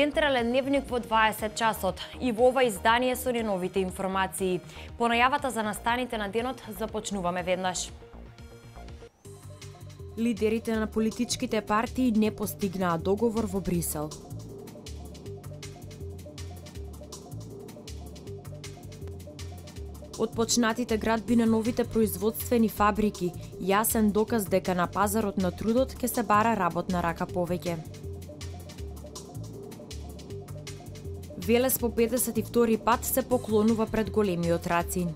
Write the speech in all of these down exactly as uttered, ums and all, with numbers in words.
Централен дневник во дваесет часот и во ова издание со најновите информации. По најавата за настаните на денот започнуваме веднаш. Лидерите на политичките партии не постигнаа договор во Брисел. Отпочнатите градби на новите производствени фабрики јасен доказ дека на пазарот на трудот ќе се бара работна рака повеќе. Велес по педесет и втори пат се поклонува пред големиот рацин.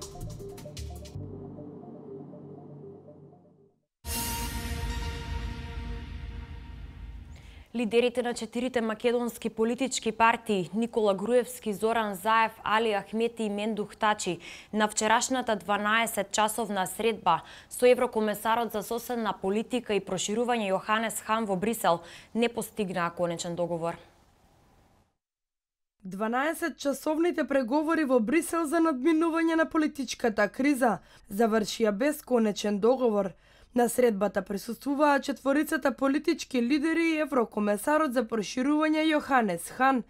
Лидерите на четирите македонски политички партии Никола Груевски, Зоран Заев, Али Ахмети и Мендух Тачи на вчерашната дванаесет часовна средба со еврокомесарот за соседна политика и проширување Јоханес Хан во Брисел не постигнаа конечен договор. дванаесет часовните преговори во Брисел за надминување на политичката криза завршија без конечен договор. На средбата присуствуваа четворицата политички лидери и еврокомесарот за проширување Јоханес Хан.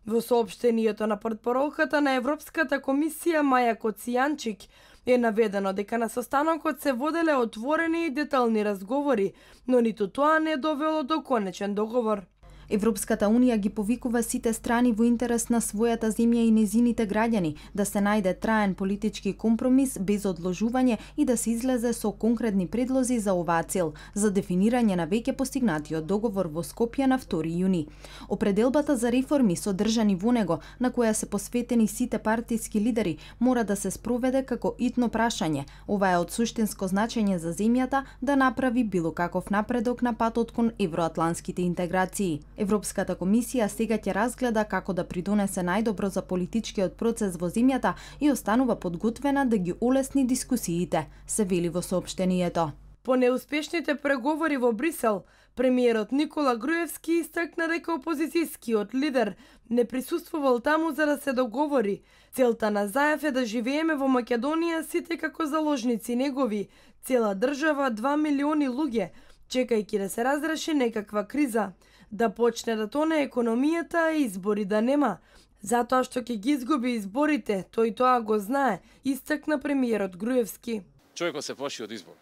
Во соопштението на портпаролката на Европската комисија Маја Коцијанчик е наведено дека на состанокот се воделе отворени и детални разговори, но ниту тоа не довело до конечен договор. Европската унија ги повикува сите страни во интерес на својата земја и незините граѓани да се најде траен политички компромис без одложување и да се излезе со конкретни предлози за оваа цел, за дефинирање на веќе постигнатиот договор во Скопје на втори јуни. Определбата за реформи содржани во него, на која се посветени сите партиски лидери, мора да се спроведе како итно прашање. Ова е од суштинско значење за земјата да направи било каков напредок на патот кон евроатланските интеграции. Европската комисија сега ќе разгледа како да придонесе најдобро за политичкиот процес во земјата и останува подготвена да ги олесни дискусиите, се вели во соопштението. По неуспешните преговори во Брисел, премиерот Никола Груевски истакна дека опозицијскиот лидер не присуствувал таму за да се договори. Целта на Заев е да живееме во Македонија сите како заложници негови, цела држава, два милиони луѓе, чекајќи да се разреши некаква криза, да почне да тоне економијата и избори да нема, затоа што ќе ги изгуби изборите, тој тоа го знае, истакна премиерот Груевски. Човекот се плаши од избори.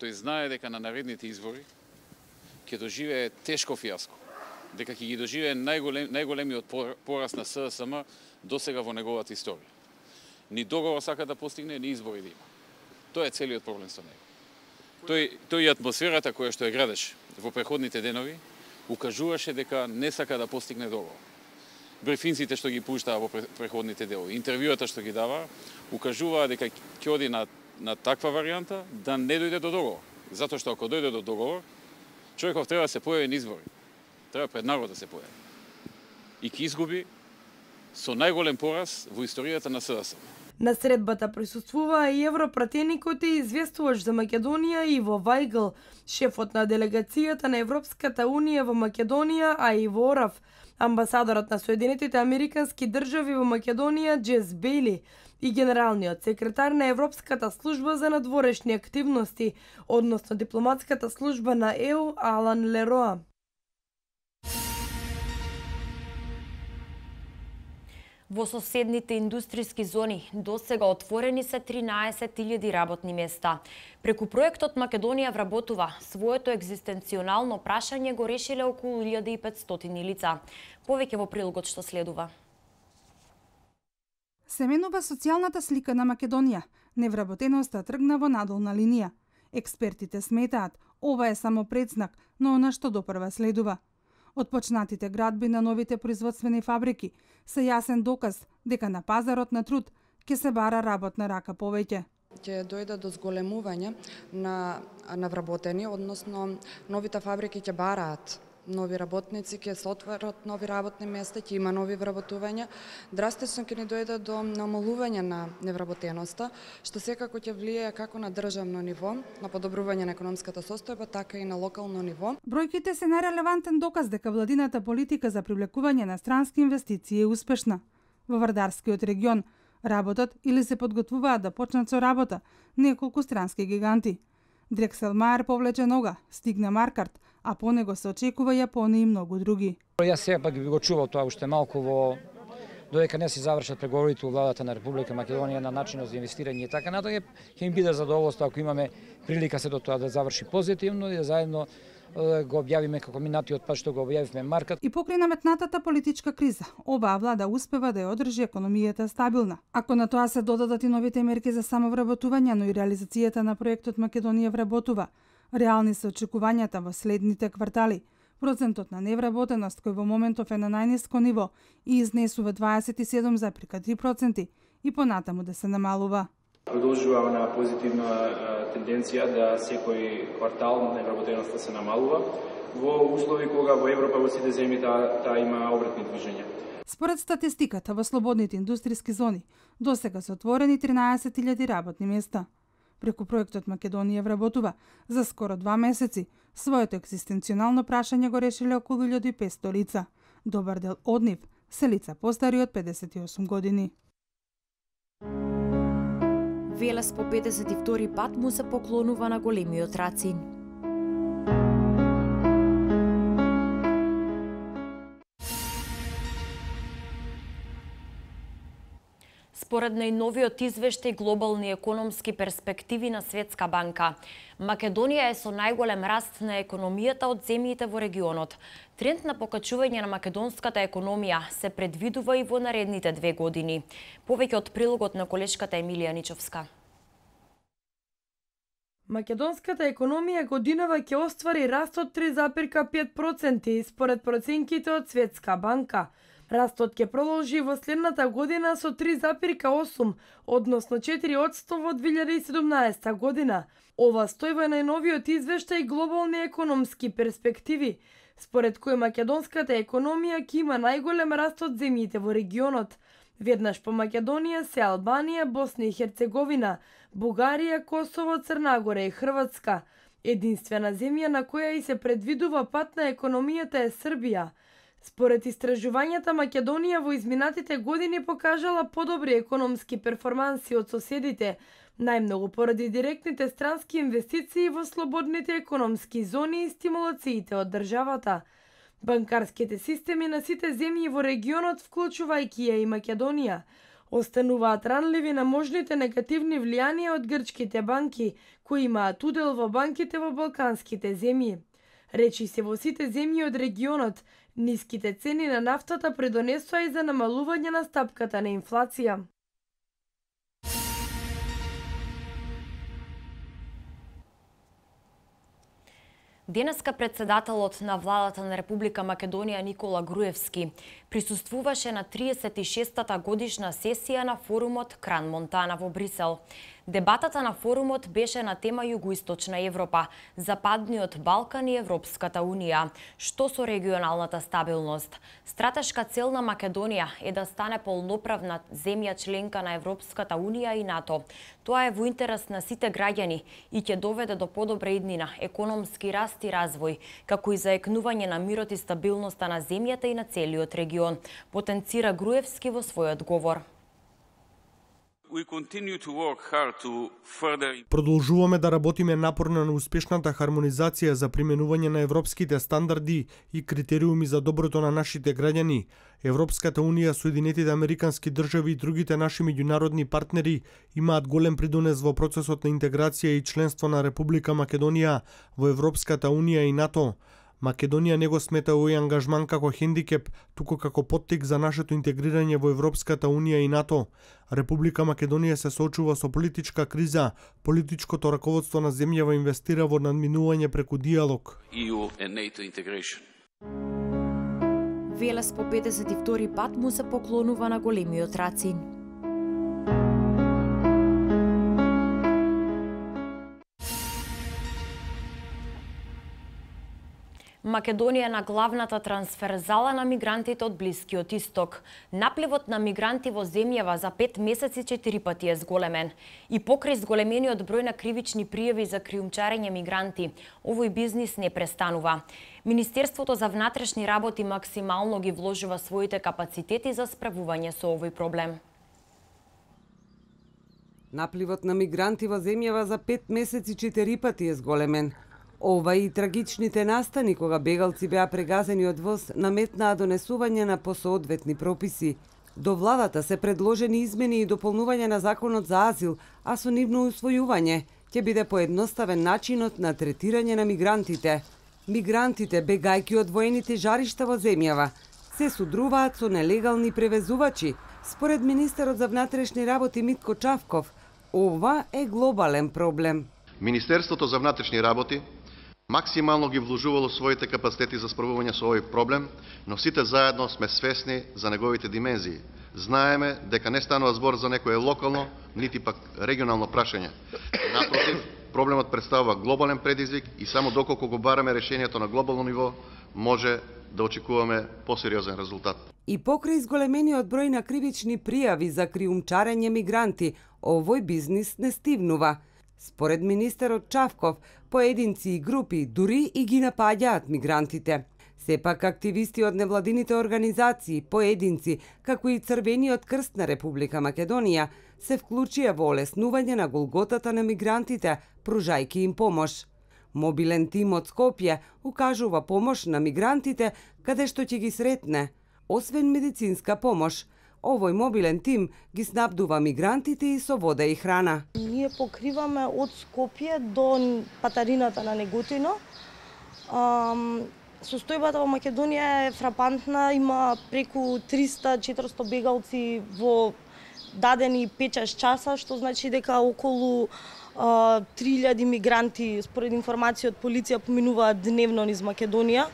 Тој знае дека на наредните избори ќе доживее тешко фијаско, дека ќе ги доживее најголем, најголемиот пораз на СДСМ досега во неговата историја. Ни договор сака да постигне, ни избори да има. Тоа е целиот проблем со него. Тој, тој и атмосферата која што ја градеше во преходните денови укажуваше дека не сака да постигне договор. Брифинците што ги пуштаа во преходните делови, интервјуата што ги дава, укажуваа дека ќе оди на, на таква варијанта да не дојде до договор. Затоа што ако дојде до договор, човеков треба да се појави на избори. Треба пред народ да се појави. И ќе изгуби со најголем пораз во историјата на СДСМ. На средбата присуствуваа и европратеникот и известувач за Македонија Иво Вајгл, шефот на делегацијата на Европската унија во Македонија, а и во Орав, амбасадорот на Соединетите Американски држави во Македонија Джес Бейли и генералниот секретар на Европската служба за надворешни активности, односно дипломатската служба на Е У Алан Лероа. Во соседните индустријски зони досега отворени се тринаесет илјади работни места. Преку проектот Македонија вработува своето екзистенционално прашање го решиле околу илјада и петстотини лица. Повеќе во прилогот што следува. Се менува социјалната слика на Македонија. Невработеноста тргна во надолна линија. Експертите сметаат, ова е само предзнак, но она што допрва следува. Отпочнатите градби на новите производствени фабрики се јасен доказ дека на пазарот на труд ќе се бара работна рака повеќе. Ќе дојде до зголемување на навработени, односно новите фабрики ќе бараат нови работници, ќе се отворат нови работни места, ќе има нови вработувања. Драстично ќе ни дојде до намалување на невработеноста, што секако ќе влијае како на државно ниво, на подобрување на економската состојба, така и на локално ниво. Бројките се најрелевантен доказ дека владината политика за привлекување на странски инвестиции е успешна. Во Вардарскиот регион работат или се подготвуваат да почнат со работа неколку странски гиганти. Дрекселмаер повлече нога, стигна Маркарт, а по него се очекува Јапонија и многу други. Јас сега пак би го чувал тоа уште малку во додека не се завршат преговорите во владата на Република Македонија на начинот за инвестирање и така натаму, ќе им биде задоволство ако имаме прилика се до тоа да заврши позитивно и да заедно го објавиме како минатиот пат што го објавивме Маркат. И покрај наметнатата политичка криза, оваа влада успева да ја одржи економијата стабилна. Ако на тоа се додадат и новите мерки за самовработување, но и реализацијата на проектот Македонија вработува, реални се очекувањата во следните квартали. Процентот на невработеност кој во моментов е на најниско ниво и изнесува дваесет и седум зарез три проценти и понатаму да се намалува. Продолжува на позитивна тенденција да секој квартал невработеноста се намалува во услови кога во Европа во сите земји таа та има обратни движења. Според статистиката во слободните индустријски зони досега се отворени тринаесет илјади работни места. Преку проектот Македонија вработува за скоро два месеци своето екзистенционално прашање го решиле околу илјада и петстотини лица. Добар дел од нив се лица постари од педесет и осум години. Велес по педесет и втори пат му се поклонува на големиот Рацин. Според најновиот извештај Глобални економски перспективи на Светска банка, Македонија е со најголем раст на економијата од земјите во регионот. Тренд на покачување на македонската економија се предвидува и во наредните две години. Повеќе од прилогот на колешката Емилија Ничовска. Македонската економија годинава ќе оствари раст од три зарез пет проценти според проценките од Светска банка. Растот ќе продолжи во следната година со три зарез осум, односно четири одсто во две илјади и седумнаесета година. Ова стои во најновиот извештај Глобални економски перспективи, според кој македонската економија ќе има најголем раст од земјите во регионот. Веднаш по Македонија се Албанија, Босна и Херцеговина, Бугарија, Косово, Црна Гора и Хрватска. Единствена земја на која и се предвидува пат на економијата е Србија. Според истражувањата, Македонија во изминатите години покажала подобри економски перформанси од соседите, најмногу поради директните странски инвестиции во слободните економски зони и стимулациите од државата. Банкарските системи на сите земји во регионот, вклучувајќи ја и Македонија, остануваат ранливи на можните негативни влијанија од грчките банки, кои имаат удел во банките во балканските земји. Речи се во сите земји од регионот, ниските цени на нафтата придонесоа и за намалување на стапката на инфлација. Денеска председателот на владата на Република Македонија Никола Груевски присуствуваше на триесет и шестата годишна сесија на форумот Кран Монтана во Брисел. Дебатата на форумот беше на тема Југоисточна Европа, Западниот Балкан и Европската Унија, што со регионалната стабилност. Стратешка цел на Македонија е да стане полноправна земја членка на Европската Унија и НАТО. Тоа е во интерес на сите граѓани и ќе доведе до подобра иднина, економски раст и развој, како и заекнување на мирот и стабилноста на земјата и на целиот регион, потенцира Груевски во својот говор. Продолжуваме да работиме напорно на успешната хармонизација за применување на европските стандарди и критериуми за доброто на нашите граѓани. Европската Унија, Соединетите Американски држави и другите наши меѓународни партнери имаат голем придонес во процесот на интеграција и членство на Република Македонија во Европската Унија и НАТО. Македонија не го смета овој ангажман како хендикеп, туку како поттик за нашето интегрирање во Европската Унија и НАТО. Република Македонија се соочува со политичка криза, политичкото раководство на земјава инвестира во надминување преку диалог. E U and NATO integration. Велес по педесет и втори пат му се поклонува на големиот Рацин. Македонија е на главната трансферзала на мигрантите од Блискиот Исток. Напливот на мигранти во земјава за пет месеци четири пати е зголемен. И покрај зголемениот број на кривични пријави за криумчарење мигранти, овој бизнис не престанува. Министерството за внатрешни работи максимално ги вложува своите капацитети за справување со овој проблем. Напливот на мигранти во земјава за пет месеци четири пати е зголемен. Ова и трагичните настани кога бегалци беа прегазени од воз наметнаа донесување на посоодветни прописи. До владата се предложени измени и дополнување на законот за азил, а со нивно усвојување ќе биде поедноставен начинот на третирање на мигрантите. Мигрантите, бегајќи од воените жаришта во земјава, се судруваат со нелегални превезувачи. Според министерот за внатрешни работи Митко Чавков, ова е глобален проблем. Министерството за внатрешни работи максимално ги вложувало своите капацитети за справување со овој проблем, но сите заедно сме свесни за неговите димензии. Знаеме дека не станува збор за некое локално, нити пак регионално прашање. Напротив, проблемот представува глобален предизвик и само доколку го бараме решението на глобално ниво, може да очекуваме посериозен резултат. И покрај зголемениот број на кривични пријави за криумчарење мигранти, овој бизнис не стивнува. Според министерот Чавков, поединци и групи дури и ги напаѓаат мигрантите. Сепак активисти од невладините организации, поединци, како и Црвениот крст на Република Македонија, се вклучија во олеснување на голготата на мигрантите, пружајки им помош. Мобилен тим од Скопје укажува помош на мигрантите каде што ќе ги сретне. Освен медицинска помош, овој мобилен тим ги снабдува мигрантите и со вода и храна. Ние покриваме од Скопје до Патарината на Неготино. Состојбата во Македонија е фрапантна, има преку триста до четиристо бегалци во дадени пет-шест часа, што значи дека околу три илјади мигранти, според информација од полиција, поминуваат дневно низ Македонија.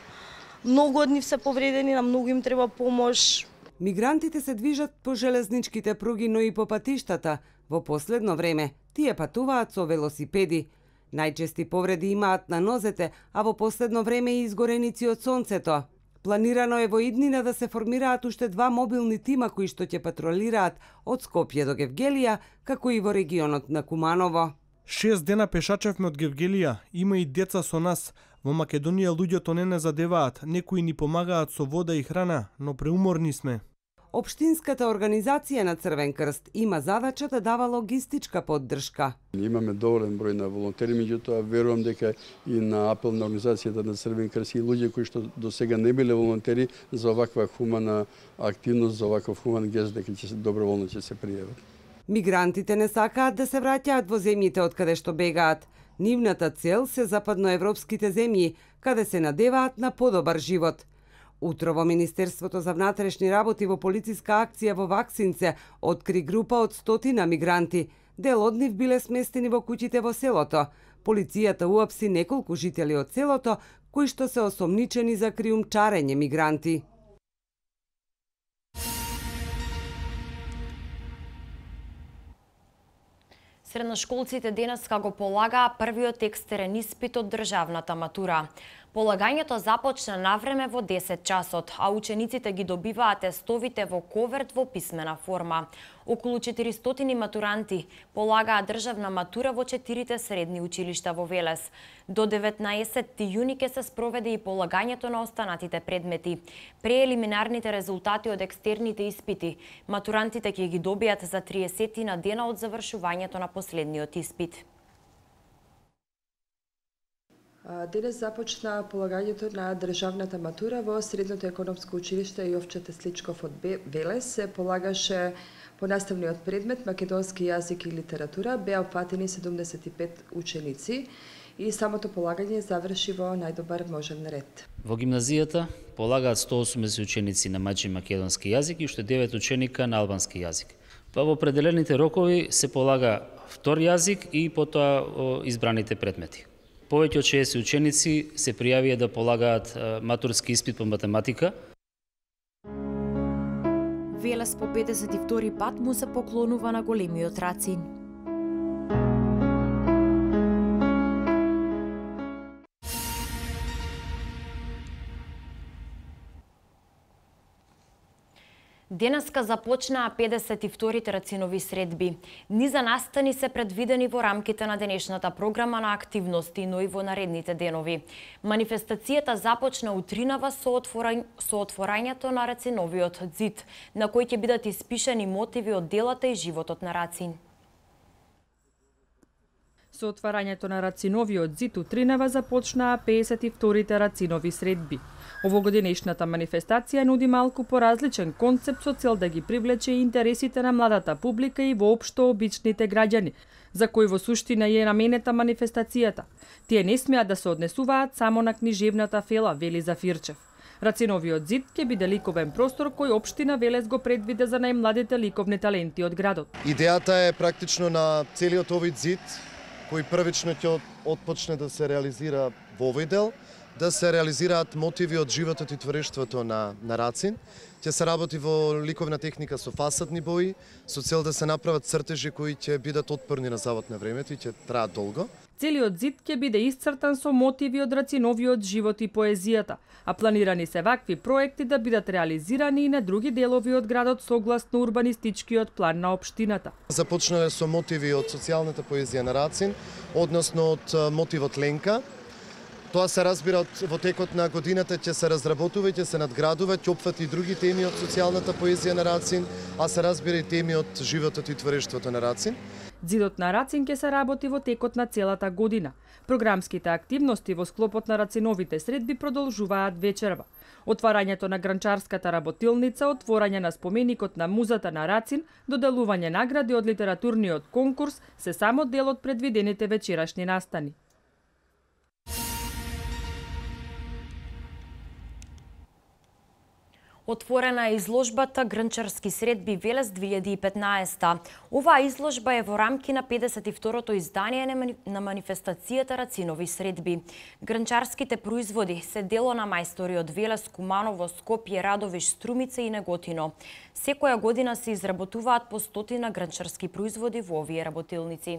Многу од нив се повредени, на многу им треба помош. Мигрантите се движат по железничките пруги, но и по патиштата. Во последно време, тие патуваат со велосипеди. Најчести повреди имаат на нозете, а во последно време и изгореници од сонцето. Планирано е во иднина да се формираат уште два мобилни тима кои што ќе патролираат од Скопје до Гевгелија, како и во регионот на Куманово. Шест дена пешачевме од Гевгелија, има и деца со нас. Во Македонија луѓето не не задеваат, некои ни помагаат со вода и храна, но преуморни сме. Општинската организација на Црвен крст има задача да дава логистичка поддршка. Имаме доволен број на волонтери, меѓутоа верувам дека и на апел на организацијата на Црвен крст и луѓе кои што до сега не биле волонтери за оваква хумана активност, за оваков хуман гест, дека ќе се доброволно ќе се пријават. Мигрантите не сакаат да се враќаат во земјите од каде што бегаат. Нивната цел се западноевропските земји, каде се надеваат на подобар живот. Утро во Министерството за внатрешни работи во полициска акција во Ваксинце откри група од стотина мигранти. Дел од нив биле сместени во куќите во селото. Полицијата уапси неколку жители од селото кои што се осомничени за криумчарење мигранти. Средношколците денеска го полагаа првиот екстерен испит од државната матура. Полагањето започна навреме во десет часот, а учениците ги добиваат тестовите во коверт во писмена форма. Околу четиристотини матуранти полагаа државна матура во четирите средни училишта во Велес. До деветнаесетти јуни ќе се спроведе и полагањето на останатите предмети. Преелиминарните резултати од екстерните испити матурантите ќе ги добијат за триесетина дена од завршувањето на последниот испит. Денес започна полагањето на државната матура во Средното економско училиште Јовче Тесличков од Велес. Се полагаше по наставниот предмет македонски јазик и литература. Беа опфатени седумдесет и пет ученици и самото полагање заврши во најдобар можен ред. Во гимназијата полагаат сто осумдесет ученици на мачин македонски јазик и уште девет ученика на албански јазик. Па во определените рокови се полага втор јазик и потоа избраните предмети. Повеќе од шеесет ученици се пријавија да полагаат матурски испит по математика. Велес по педесет и втори пат му се поклонува на големиот Рацин. Денеска започнаа педесет и вторите рацинови средби. Низа настани се предвидени во рамките на денешната програма на активности, но и во наредните денови. Манифестацијата започна утринава со, отворањ... со отворањето на Рациновиот ѕид, на кој ќе бидат испишани мотиви од делата и животот на Рацин. Со отварањето на Рациновиот ѕид утринава започнаа педесет и вторите рацинови средби. Овогодинешната манифестација нуди малку поразличен концепт со цел да ги привлече интересите на младата публика и воопшто обичните граѓани, за кои во суштина е наменета манифестацијата. Тие не смеат да се однесуваат само на книжевната фела, вели Зафирчев. Рациновиот ЗИД ќе биде ликовен простор кој општина Велес го предвиде за најмладите ликовни таленти од градот. Идејата е практично на целиот овој ЗИД, кој првично ќе отпочне да се реализира во овој дел, да се реализираат мотиви од животот и творештвото на, на Рацин. Ќе се работи во ликовна техника со фасадни бои, со цел да се направат цртежи кои ќе бидат отпорни на завод на времето и ќе траат долго. Целиот ЗИД ќе биде исцртан со мотиви од Рациновиот живот и поезијата, а планирани се вакви проекти да бидат реализирани и на други делови од градот согласно урбанистичкиот план на општината. Започнале со мотиви од социјалната поезија на Рацин, односно од мотивот Ленка. Тоа се разбира од, во текот на годината ќе се разработува и ќе се надградува, ќе опфати и други теми од социјалната поезија на Рацин, а се разбира и теми од животот и творештвото на Рацин. ЗИДот на Рацин ќе се работи во текот на целата година. Програмските активности во склопот на Рациновите средби продолжуваат вечерва. Отварањето на гранчарската работилница, отворање на споменикот на музата на Рацин, доделување награди од литературниот конкурс се само дел од предвидените вечерашни настани. Отворена е изложбата Гранчарски средби Велес две илјади и петнаесета. Оваа изложба е во рамки на педесет и второто издание на манифестацијата Рацинови средби. Гранчарските производи се дело на мајстори од Велес, Куманово, Скопје, Радовиш, Струмица и Неготино. Секоја година се изработуваат по стотина гранчарски производи во овие работилници.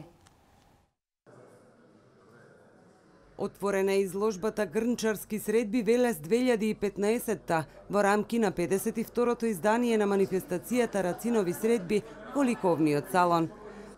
Отворена е изложбата Грнчарски средби Велес две илјади и петнаесета во рамки на педесет и второто издание на манифестацијата Рацинови средби во ликовниот салон.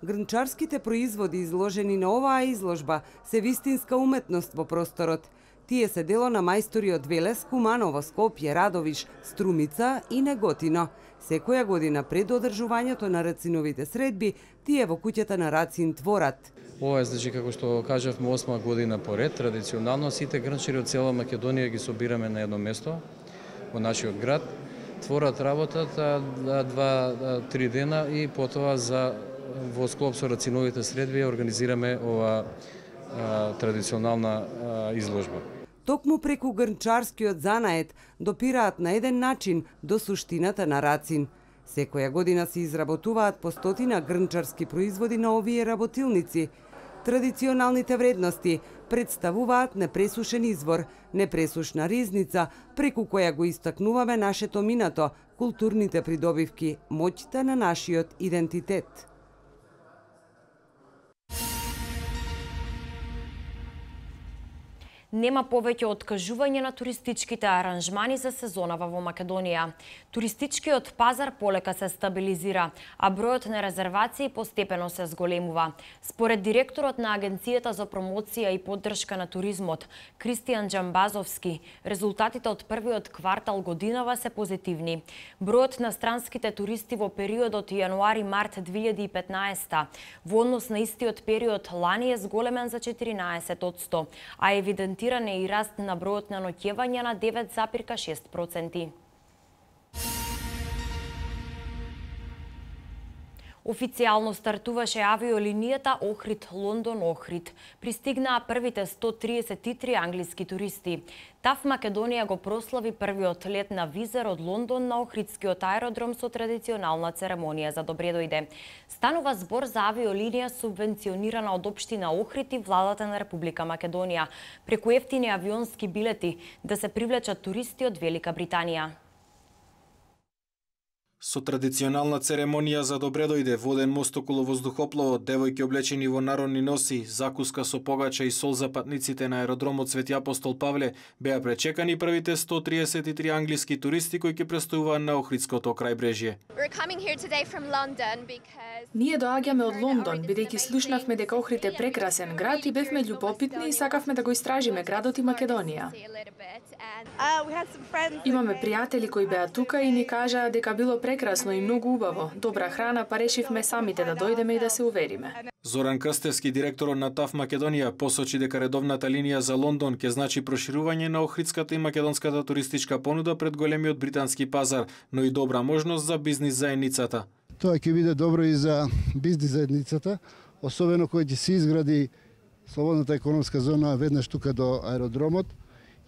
Грнчарските производи изложени на оваа изложба се вистинска уметност во просторот. Тие се дело на мајстори од Велес, Куманово, Скопје, Радовиш, Струмица и Неготино. Секоја година пред одржувањето на Рациновите средби, тие во куќата на Рацин творат. Ова е, значи, како што кажавме, осма година поред. Традиционално сите гранчари од цела Македонија ги собираме на едно место во нашиот град. Творат работата два-три дена и потоа за во склоп со Рациновите средби организираме ова а, традиционална а, изложба. Токму преку грнчарскиот занает допираат на еден начин до суштината на Рацин. Секоја година се изработуваат по стотина грнчарски производи на овие работилници. Традиционалните вредности представуваат непресушен извор, непресушна ризница, преку која го истакнуваме нашето минато, културните придобивки, моќта на нашиот идентитет. Нема повеќе откажување на туристичките аранжмани за сезонава во Македонија. Туристичкиот пазар полека се стабилизира, а бројот на резервации постепено се зголемува. Според директорот на Агенцијата за промоција и поддршка на туризмот, Кристијан Џамбазовски, резултатите од првиот квартал годинава се позитивни. Бројот на странските туристи во периодот јануари-март две илјади и петнаесета во однос на истиот период лани е зголемен за четиринаесет одсто, а евидентиран е и раст на бројот на ноќевања на девет запирка шест проценти. Официјално стартуваше авиолинијата Охрид-Лондон-Охрид. Пристигнаа првите сто триесет и три англиски туристи. ТАФ Македонија го прослави првиот лет на визер од Лондон на Охридскиот аеродром со традиционална церемонија за добредојде. Станува збор за авиолинија субвенционирана од општина Охрид и владата на Република Македонија, преку ефтини авионски билети да се привлечат туристи од Велика Британија. Со традиционална церемонија за добре дојде, воден мост околу воздухопловот, девојки облечени во народни носи, закуска со погача и сол за патниците на аеродромот Свети Апостол Павле, беа пречекани првите сто триесет и три англиски туристи кои ќе престојуваат на Охридското крајбрежје. Ние доаѓаме од Лондон, бидејќи слушнавме дека Охрид е прекрасен град и бевме љубопитни и сакавме да го истражиме градот и Македонија. Имаме пријатели кои беа тука и ни кажаа дека било прекрасно и многу убаво. Добра храна, па решивме самите да дојдеме и да се увериме. Зоран Крстевски, директорот на ТАФ Македонија, посочи дека редовната линија за Лондон ќе значи проширување на охридската и македонската туристичка понуда пред големиот британски пазар, но и добра можност за бизнис заедницата. Тоа ќе биде добро и за бизнис заедницата, особено кој ќе се изгради слободната економска зона веднаш тука до аеродромот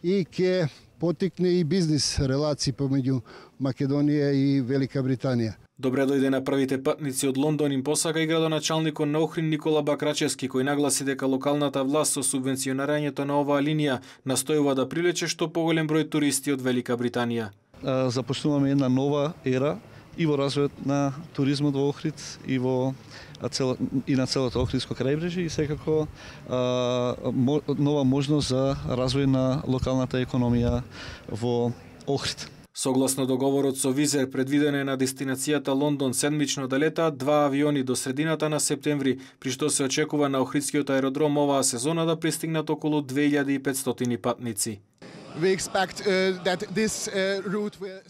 и ќе потикне и бизнис релации помеѓу Македонија и Велика Британија. Добре дојде на првите патници од Лондон им посака и градоначалникот на Охрид Никола Бакрачевски, кој нагласи дека локалната власт со субвенционирањето на оваа линија настојува да привлече што поголем број туристи од Велика Британија. Започнуваме една нова ера и во развојот на туризмот во Охрид и во цел, и на целото Охридско крајбрежје и секако а, мо, нова можност за развој на локалната економија во Охрид. Согласно договорот со Визер, предвидено е на дестинацијата Лондон седмично да летаат два авиони до средината на септември, при што се очекува на Охридскиот аеродром оваа сезона да пристигнат околу две илјади и петстотини патници.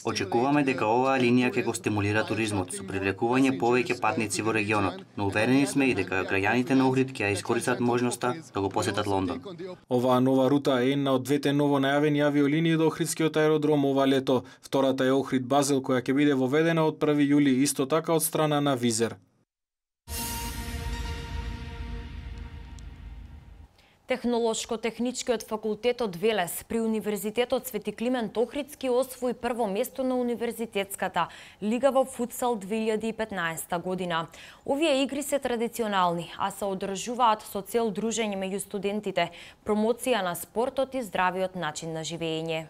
Очекуваме дека оваа линија ќе го стимулира туризмот со привлекување повеќе патници во регионот, но уверени сме и дека граѓаните на Охрид ќе ја искористат можноста да го посетат Лондон. Оваа нова рута е една од двете ново најавени авиолинии до Охридскиот аеродром ова лето. Втората е Охрид Базел, која ќе биде воведена од први јули, исто така од страна на Визер. Технолошко-техничкиот факултет од Велес при Универзитетот Свети Климент Охридски освои прво место на Универзитетската лига во футсал две илјади и петнаесета година. Овие игри се традиционални, а се одржуваат со цел дружење меѓу студентите, промоција на спортот и здравиот начин на живење.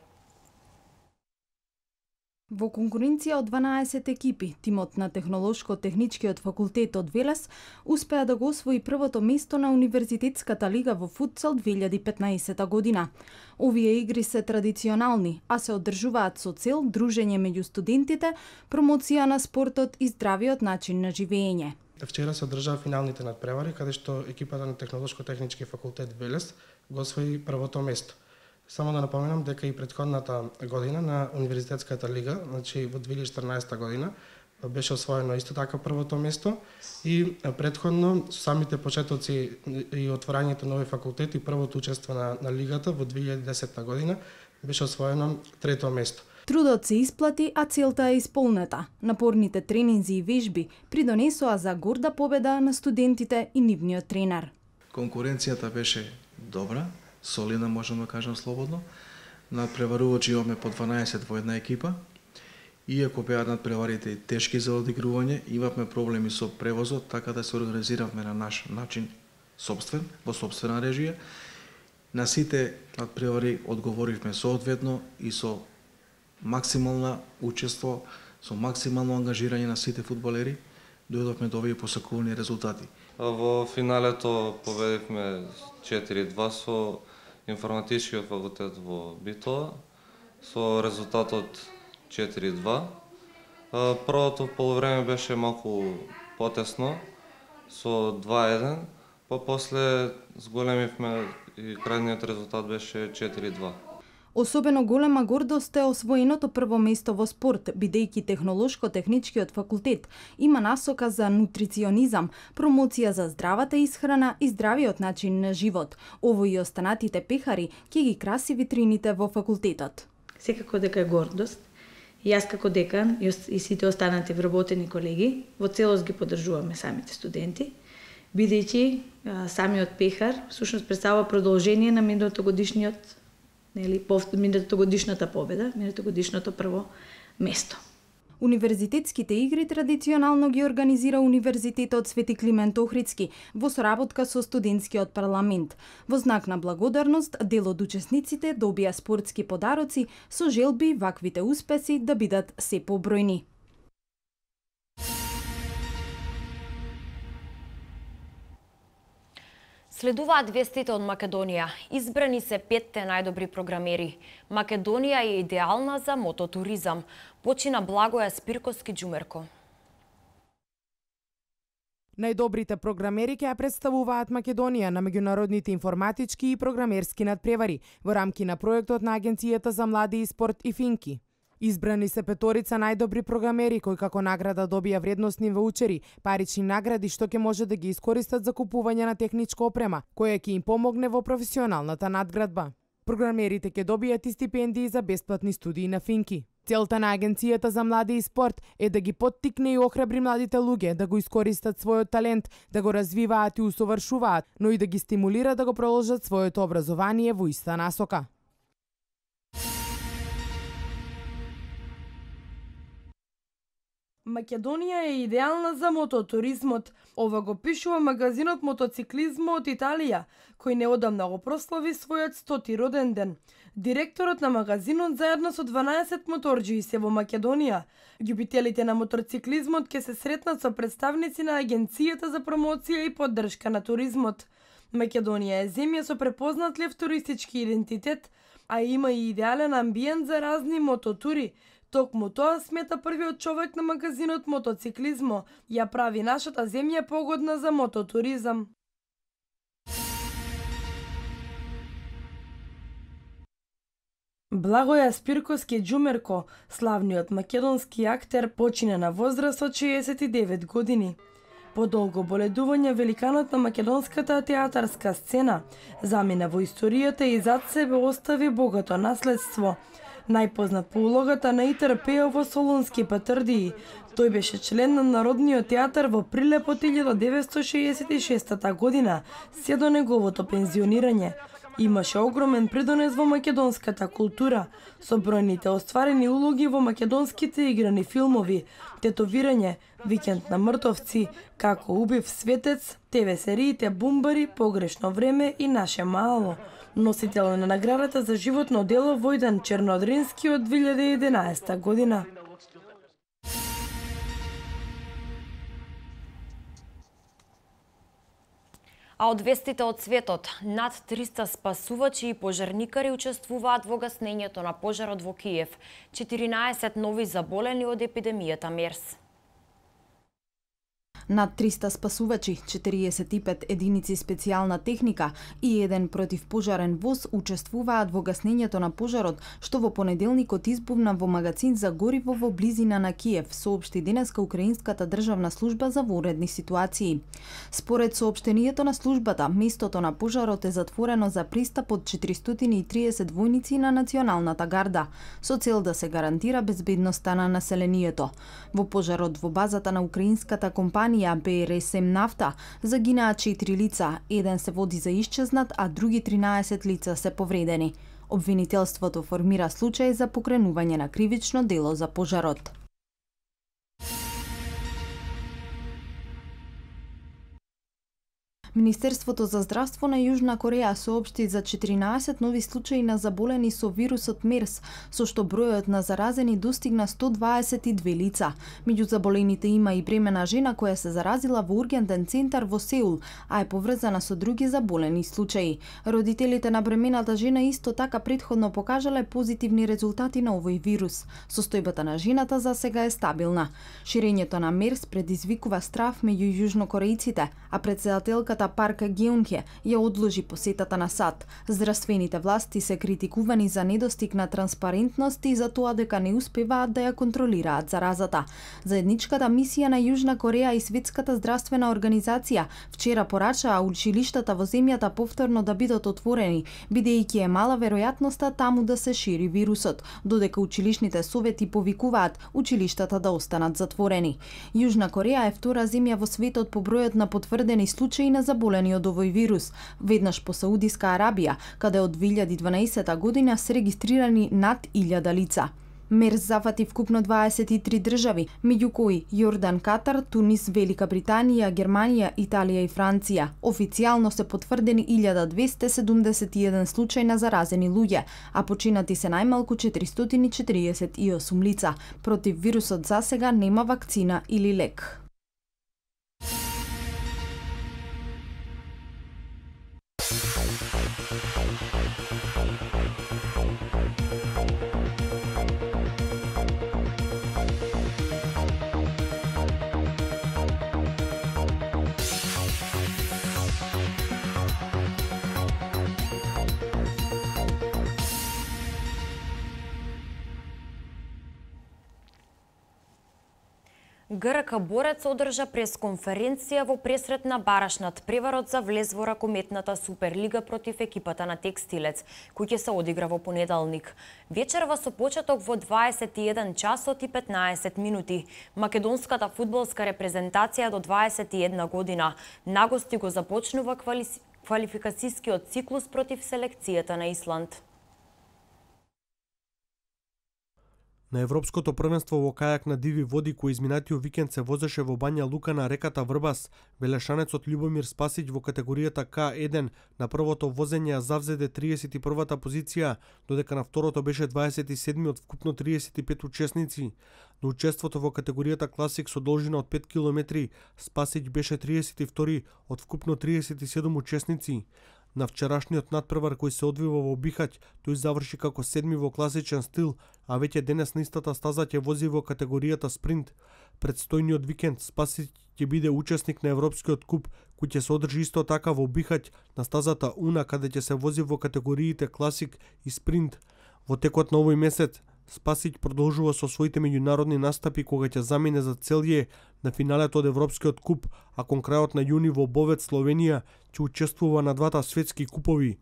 Во конкуренција од дванаесет екипи, тимот на Технолошко-техничкиот факултет од Велес успеа да го освои првото место на Универзитетската лига во футсал две илјади и петнаесета година. Овие игри се традиционални, а се одржуваат со цел дружење меѓу студентите, промоција на спортот и здравиот начин на живење. Вчера се одржаа финалните надпревари, каде што екипата на Технолошко-технички факултет Велес го освои првото место. Само да напоменам дека и претходната година на Универзитетската лига, значи во две илјади и четрнаесета година, беше освоено исто така првото место и претходно самите почетоци и отворањето на овој факултет и првото учество на, на лигата во две илјади и десета година беше освоено трето место. Трудот се исплати, а целта е исполнета. Напорните тренинзи и вежби придонесоа за горда победа на студентите и нивниот тренер. Конкуренцијата беше добра, солидна, можам да кажам слободно. Надпреварувачи имаме по дванаесет во една екипа. Иако беа надпреварите тешки за одигрување, имавме проблеми со превозот, така да се организиравме на наш начин собствен, во собствена режија. На сите надпревари одговоривме соодветно и со максимална учество, со максимално ангажирање на сите фудбалери, дојдовме до овие посакувани резултати. Во финалето победивме четири два со информатичкиот факултет во Битола со резултатот четири два. Првото полувреме беше малку потесно со два еден, па после зголемивме и крајниот резултат беше четири два. Особено голема гордост е освоеното прво место во спорт, бидејќи Технолошко-техничкиот факултет има насока за нутриционизам, промоција за здравата исхрана и здравиот начин на живот. Ово и останатите пехари ќе ги краси витрините во факултетот. Секако дека е гордост. Јас како декан и сите останати вработени колеги во целост ги поддржуваме самите студенти, бидејќи самиот пехар всушност представува продолжение на минатогодишниот нели минатогодишната победа, минатогодишното прво место. Универзитетските игри традиционално ги организира Универзитетот Свети Климент Охридски во соработка со студентскиот парламент. Во знак на благодарност, дел од учесниците добија спортски подароци со желби ваквите успеси да бидат се побројни. Следуваат вестите од Македонија. Избрани се петте најдобри програмери. Македонија е идеална за мототуризам. Почина Благоја Спирковски Џумерко. Најдобрите програмери ќе ја представуваат Македонија на меѓународните информатички и програмерски надпревари во рамки на проектот на Агенцијата за млади и спорт и Финки. Избрани се петорица најдобри програмери кои како награда добија вредносни ваучери, парични награди што ќе може да ги искористат за купување на техничка опрема, која ќе им помогне во професионалната надградба. Програмерите ќе добијат и стипендии за бесплатни студии на Финки. Целта на Агенцијата за млади и спорт е да ги поттикне и охрабри младите луѓе да го искористат својот талент, да го развиваат и усовршуваат, но и да ги стимулира да го продолжат своето образование во иста насока. Македонија е идеална за мототуризмот. Ова го пишува магазинот Мотоциклизмо од Италија, кој неодамна го прослави својот стоти роден ден. Директорот на магазинот заедно со дванаесет моторџии се во Македонија. Љубителите на мотоциклизмот ќе се сретнат со представници на Агенцијата за промоција и поддршка на туризмот. Македонија е земја со препознатлив туристички идентитет, а има и идеален амбиент за разни мототури. Токму тоа смета првиот човек на магазинот Мотоциклизмо, ја прави нашата земја погодна за мототуризам. Благоја Спирковски Џумерко, славниот македонски актер, почина на возраст од шеесет и девет години. По долго боледување великанот на македонската театарска сцена замина во историјата и зад себе остави богато наследство. Најпознат по улогата на Итар Пејо во Солунски патрдии. Тој беше член на Народниот театар во Прилеп од илјада деветстотини шеесет и шеста година, се до неговото пензионирање. Имаше огромен придонес во македонската култура, со бројните остварени улоги во македонските играни филмови, Тетовирање, Викенд на мртовци, Како убив светец, те ве сериите Бумбари, Погрешно време и Наше мало. Носител на наградата за животно дело Војдан Чернодрински од две илјади и единаесета година. А од вестите од светот, над триста спасувачи и пожарникари учествуваат во гаснењето на пожарот во Киев. четиринаесет нови заболени од епидемијата МЕРС. Над триста спасувачи, четириесет и пет единици специјална техника и еден противпожарен воз учествуваат во гаснењето на пожарот, што во понеделникот избувна во магазин за гориво во близина на Киев, соопшти денеска Украинската државна служба за воредни ситуации. Според соопштението на службата, местото на пожарот е затворено за пристап од четиристотини и триесет војници на Националната гарда, со цел да се гарантира безбедноста на населението. Во пожарот во базата на украинската компанија Б Р С М Нафта загинаа четири лица, еден се води за исчезнат, а други тринаесет лица се повредени. Обвинителството формира случај за покренување на кривично дело за пожарот. Министерството за здравство на Јужна Кореја соопшти за четиринаесет нови случаи на заболени со вирусот МЕРС, со што бројот на заразени достигна сто дваесет и две лица. Меѓу заболените има и бремена жена која се заразила во ургентен центар во Сеул, а е поврзана со други заболени случаи. Родителите на бремената жена исто така претходно покажале позитивни резултати на овој вирус. Состојбата на жената за сега е стабилна. Ширењето на МЕРС предизвикува страв меѓу јужнокорејците, а председателката Парк Геунхе ја одложи посетата на САД. Здравствените власти се критикувани за недостиг на транспарентност и за тоа дека не успеваат да ја контролираат заразата. Заедничката мисија на Јужна Кореја и Светската здравствена организација вчера порачаа училиштата во земјата повторно да бидат отворени, бидејќи е мала веројатноста таму да се шири вирусот, додека училишните совети повикуваат училиштата да останат затворени. Јужна Кореја е втора земја во светот по бројот на потврдени случаи на заболени од овој вирус, веднаш по Саудиска Арабија, каде од две илјади и дванаесета година се регистрирани над илјада лица. МЕРС зафати вкупно дваесет и три држави, меѓу кои Јордан, Катар, Тунис, Велика Британија, Германија, Италија и Франција. Официјално се потврдени илјада двесте седумдесет и еден случај на заразени луѓе, а починати се најмалку четиристотини и четириесет и осум лица. Против вирусот засега нема вакцина или лек. ГРК Борец одржа пресконференција во пресрет на бараш над преварот за влез во ракометната Суперлига против екипата на Текстилец, кој ќе се одигра во понеделник. Вечерва со почеток во дваесет и еден часот и петнаесет минути. Македонската фудбалска репрезентација до дваесет и една година нагости го започнува квали... квалификацијскиот циклус против селекцијата на Исланд. На Европското првенство во кајак на диви води кој изминатиот викенд се возеше во Бања Лука на реката Врбас, велешанецот Љубомир Спасиќ во категоријата К еден на првото возење ја завзеде триесет и првата позиција, додека на второто беше дваесет и седми од вкупно триесет и пет учесници. На учеството во категоријата Класик со должина од пет километри, Спасиќ беше триесет и втори од вкупно триесет и седум учесници. На вчерашниот надпревар кој се одвива во Бихаќ, тој заврши како седми во класичен стил, а веќе денес на истата стаза ќе вози во категоријата спринт. Предстојниот викенд Спасиќ ќе биде учесник на Европскиот куп, кој ќе се одржи исто така во Бихаќ на стазата Уна, каде ќе се вози во категориите класик и спринт. Во текот на овој месец Спасиќ продолжува со своите меѓународни настапи кога ќе замине за Целје на финалето од Европскиот куп, а кон крајот на јуни во Бовец, Словенија, ќе учествува на двата светски купови.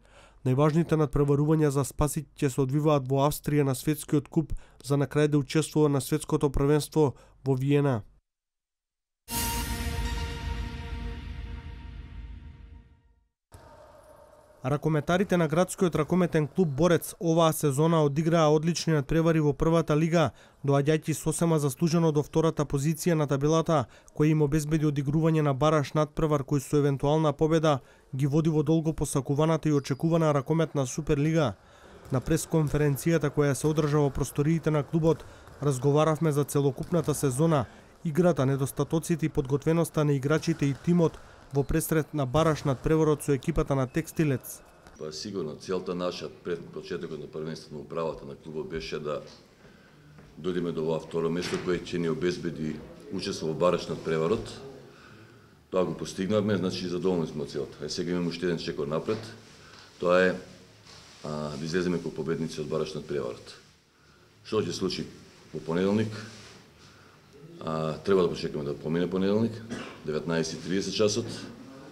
Најважните надпреварувања за Спасиќ ќе се одвиваат во Австрија на светскиот куп, за на крај да учествува на светското првенство во Виена. Ракометарите на градскиот ракометен клуб Борец оваа сезона одиграа одлични надпревари во првата лига, доаѓајќи сосема заслужено до втората позиција на табелата, која им обезбеди одигрување на бараш надпревар кој со евентуална победа ги води во долго посакуваната и очекувана ракометна Суперлига. На пресконференцијата која се одржа во просториите на клубот, разговаравме за целокупната сезона, играта, недостатоците и подготвеноста на играчите и тимот во пресрет на бараш над преварот со екипата на Текстилец. Па сигурно целта наша пред почетокот на првенството на управата на клубот беше да дојдеме до ова второ место кое ќе ни обезбеди учество во бараш над преварот. Тоа го постигнавме, значи задоволни сме од целта. Е сега имаме уште еден чекор напред. Тоа е а, да излеземе како победници од бараш над преварот. Што ќе случи во понеделник? А, треба да почекаме да помине понеделник, деветнаесет и тридесет часот.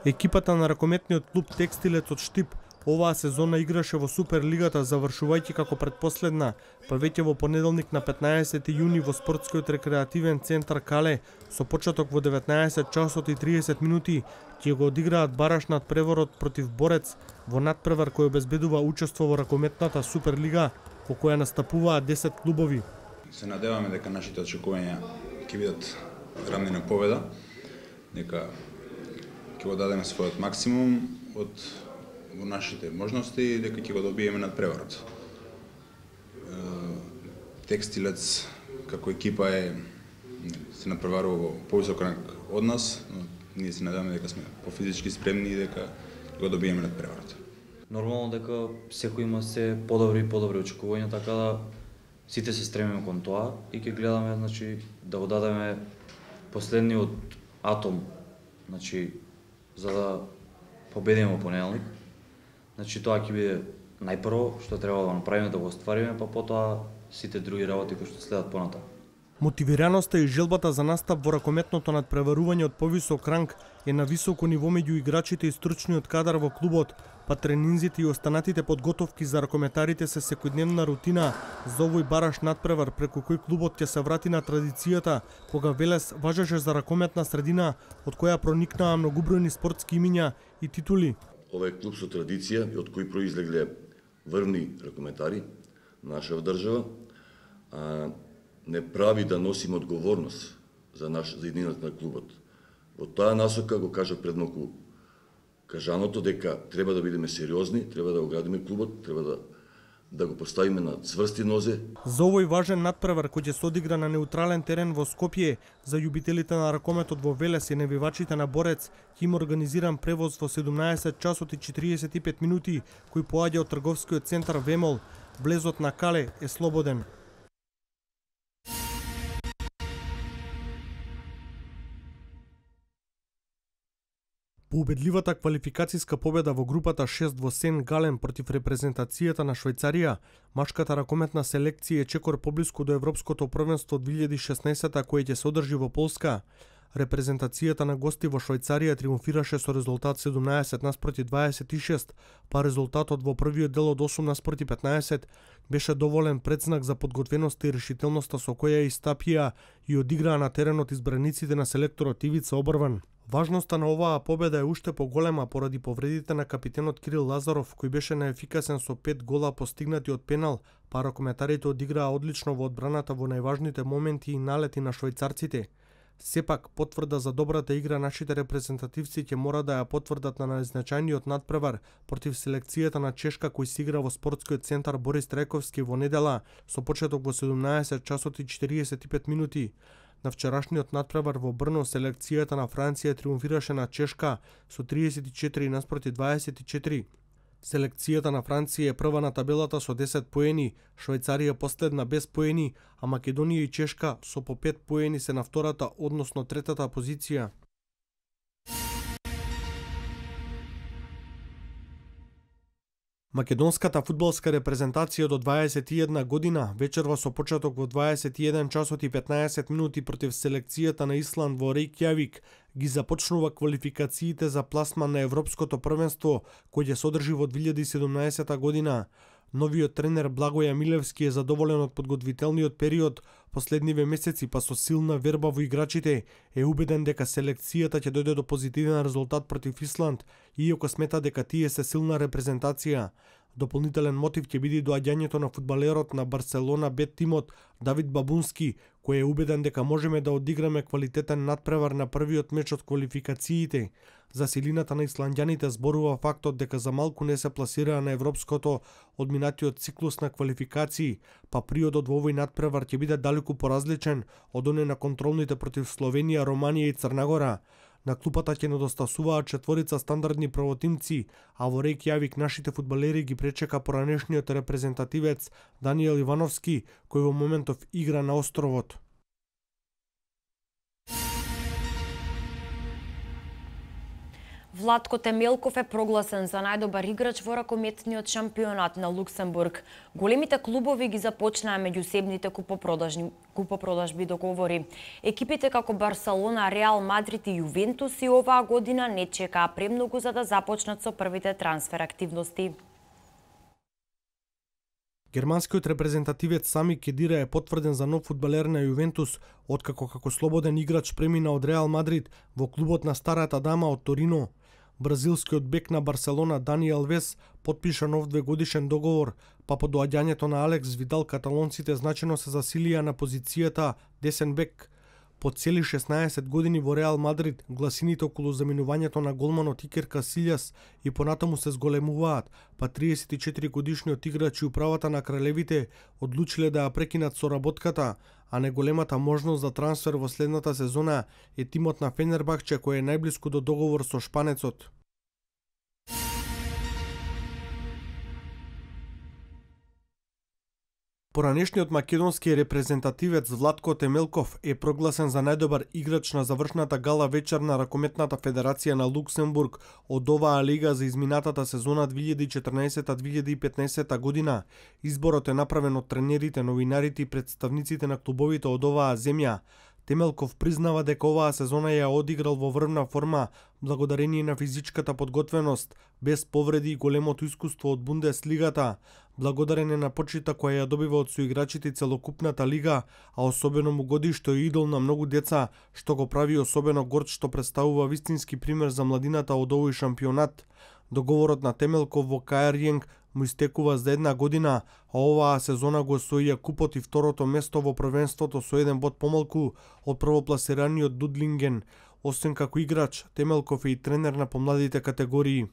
Екипата на ракометниот клуб Текстилец од Штип оваа сезона играше во Суперлигата, завршувајќи како предпоследна, па веќе во понеделник на петнаесети јуни во спортскиот рекреативен центар Кале, со почеток во деветнаесет часот и тридесет минути, ќе го одиграат бараш над преворот против Борец во надпревар кој обезбедува учество во ракометната Суперлига, во која настапуваат десет клубови. Се надеваме дека нашите очекувања ќе бидат рамни на победа, дека ќе го дадеме својот максимум од во нашите можности и дека ќе го добиеме над преварот. Текстилец како екипа е се надпреварува во повисок ранг од нас, но ние се надеваме дека сме пофизички спремни и дека ќе го добиеме над преварот. Нормално дека секој има се подобри и подобри очекувања, така да сите се стремиме кон тоа и ќе гледаме, значи, да го дадеме последниот атом, значи, за да победиме во понеделник. Значи, тоа ќе биде најпрво што треба да направиме, да го оствариме, па потоа сите други работи кои што следат понатаму. Мотивираноста и желбата за настап во ракометното надпреварување од повисок ранг е на високо ниво меѓу играчите и стручниот кадар во клубот, па тренинзите и останатите подготовки за ракометарите се секојдневна рутина за овој бараш надпревар преку кој клубот ќе се врати на традицијата кога Велес важеше за ракометна средина од која проникнаа многубројни спортски имиња и титули. Овој клуб со традиција и од кој произлегле врвни ракометари наша држава, а, не прави да носиме одговорност за наш за единината на клубот. Во таа насока го кажав пред малку кажаното дека треба да бидеме сериозни, треба да го градиме клубот, треба да да го поставиме на цврсти нозе. За овој важен надпревар кој ќе се одигра на неутрален терен во Скопје, за љубителите на ракометот во Велес и навивачите на Борец, ќе има организиран превоз во седумнаесет часот и четиридесет и пет минути, кој поаѓа од трговскиот центар Вемол. Влезот на Кале е слободен. По убедливата квалификацијска победа во групата шест во Сен Гален против репрезентацијата на Швајцарија, машката ракометна селекција е чекор поблиску до Европското првенство две илјади и шеснаесета кој ќе се одржи во Полска. Репрезентацијата на гости во Швајцарија триумфираше со резултат седумнаесет наспроти дваесет и шест, па резултатот во првиот дел од осум наспроти петнаесет беше доволен предзнак за подготвеноста и решителноста со која истапија и одиграа на теренот избраниците на селекторот Ивица Обрван. Важноста на оваа победа е уште поголема поради повредите на капитенот Кирил Лазаров, кој беше неефикасен со пет гола постигнати од пенал, па ракометарите одиграа одлично во одбраната во најважните моменти и налети на швајцарците. Сепак, потврда за добрата игра нашите репрезентативци ќе мора да ја потврдат на најзначајниот надпревар против селекцијата на Чешка кој се игра во спортскиот центар Борис Трајковски во недела со почеток во седумнаесет часот и четиридесет и пет минути. На вчерашниот надпревар во Брно селекцијата на Франција триумфираше на Чешка со триесет и четири наспроти дваесет и четири. Селекцијата на Франција е прва на табелата со десет поени, Швајцарија последна без поени, а Македонија и Чешка со по пет поени се на втората, односно третата позиција. Македонската фудбалска репрезентација до дваесет и една година вечерва со почеток во дваесет и еден часот и петнаесет минути против селекцијата на Исланд во Рејкјавик ги започнува квалификациите за пласман на Европското првенство кој ќе се одржи во две илјади и седумнаесета година. Новиот тренер Благоја Милевски е задоволен од подготвителниот период последниве месеци, па со силна верба во играчите е убеден дека селекцијата ќе дојде до позитивен резултат против Исланд, иако смета дека тие се силна репрезентација. Дополнителен мотив ќе биде доаѓањето на фудбалерот на Барселона Б тимот Давид Бабунски, кој е убеден дека можеме да одиграме квалитетен надпревар на првиот меч од квалификациите. За силината на исландјаните зборува фактот дека за малку не се пласираа на европското од минатиот циклус на квалификации, па приодот во овој надпревар ќе биде далеку поразличен од оној на контролните против Словенија, Романија и Црнагора. На клупата ќе недостасуваат четворица стандардни правотимци, а во Рејкјавик нашите фудбалери ги пречека поранешниот репрезентативец Даниел Ивановски, кој во моментов игра на островот. Владко Темелков е прогласен за најдобар играч во ракометниот шампионат на Луксембург. Големите клубови ги започнаа меѓусебните купопродажби, купопродажби договори. Екипите како Барселона, Реал Мадрид и Јувентус и оваа година не чекаа премногу за да започнат со првите трансфер активности. Германскиот репрезентативец Сами Кедира е потврден за нов фудбалер на Јувентус, откако како слободен играч премина од Реал Мадрид во клубот на старата дама од Торино. Бразилскиот бек на Барселона Дани Алвес потпиша нов двегодишен договор, па по доаѓањето на Алекс Видал каталонците значено се засилија на позицијата десен бек. По цели шеснаесет години во Реал Мадрид, гласините околу заменувањето на голманот Икер Касилјас и понатаму се зголемуваат, па триесет и четири годишниот играч и управата на кралевите одлучиле да ја прекинат соработката, а неголемата можност за трансфер во следната сезона е тимот на Фенербахче кој е најблиску до договор со шпанецот. Поранешниот македонски репрезентативец Владко Темелков е прогласен за најдобар играч на завршната гала вечер на Ракометната федерација на Луксембург од оваа лига за изминатата сезона две илјади и четрнаесета две илјади и петнаесета година. Изборот е направен од тренерите, новинарите и представниците на клубовите од оваа земја. Темелков признава дека оваа сезона ја одиграл во врвна форма благодарение на физичката подготвеност, без повреди и големото искуство од Бундеслигата, благодарение на почита која ја добива од соиграчите и целокупната лига, а особено му годи што е идол на многу деца, што го прави особено горд што представува вистински пример за младината од овој шампионат. Договорот на Темелков во Ка Ер Јенг му истекува за една година, а оваа сезона го освоија купот и второто место во првенството со еден бод помалку од првопласираниот Дудлинген. Освен како играч, Темелков е и тренер на помладите категории.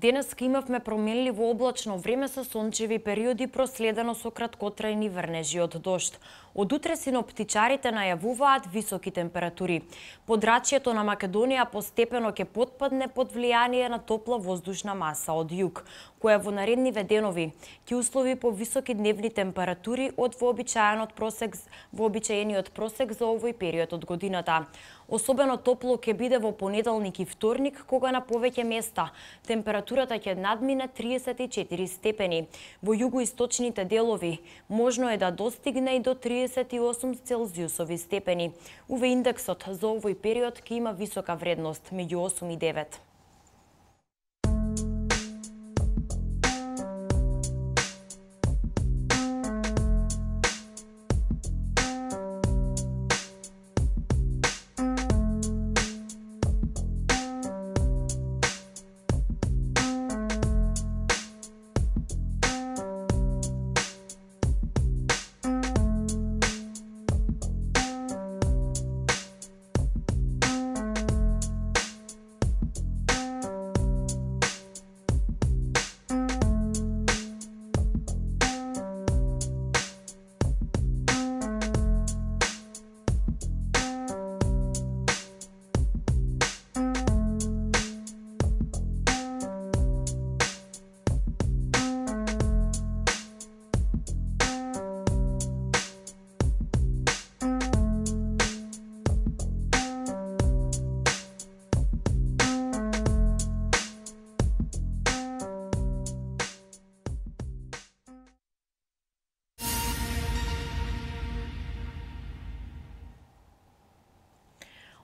Денеска имавме променливо облачно време со сончеви периоди проследено со краткотрајни врнежи од дожд. Од утре синоптичарите најавуваат високи температури. Подрачјето на Македонија постепено ќе потпадне под влијание на топла воздушна маса од југ, која во наредниве денови ќе услови по високи дневни температури од вообичаениот просек вообичаениот просек за овој период од годината. Особено топло ќе биде во понеделник и вторник, кога на повеќе места температурата ќе надмине триесет и четири степени. Во југоисточните делови можно е да достигне и до триесет и осум целзиусови степени. У ве индексот за овој период ќе има висока вредност, меѓу осум и девет.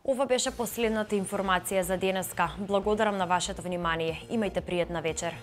Ова беше последната информација за денеска. Благодарам на вашето внимание. Имајте пријатна вечер.